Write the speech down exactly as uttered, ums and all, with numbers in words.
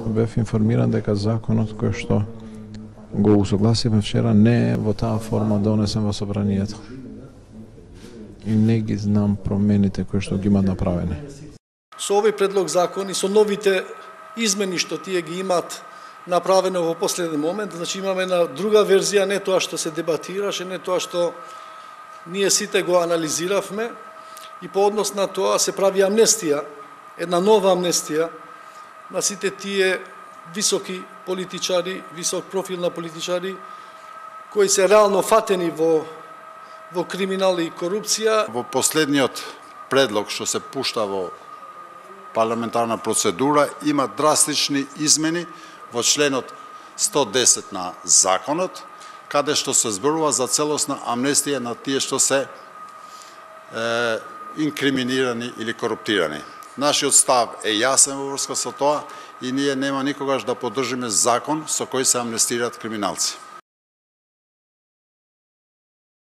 Бев информиран дека законот кој што го усогласивме вчера не е во таа форма донесен во собранието. И не ги знам промените кои што ги имат направени. Со овој предлог закон и со новите измени што тие ги имат направено во последен момент, значи имаме една друга верзија, не тоа што се дебатираше, не тоа што ние сите го анализиравме, и по однос на тоа се прави амнестија, една нова амнестија на сите тие високи политичари, висок профил на политичари, кои се реално фатени во, во криминал и корупција. Во последниот предлог што се пушта во парламентарна процедура има драстични измени во членот сто десет на законот, каде што се зборува за целосна амнестија на тие што се е, инкриминирани или коруптирани. Нашиот став е јасен во врска со тоа и ние нема никогаш да поддржиме закон со кој се амнестираат криминалци.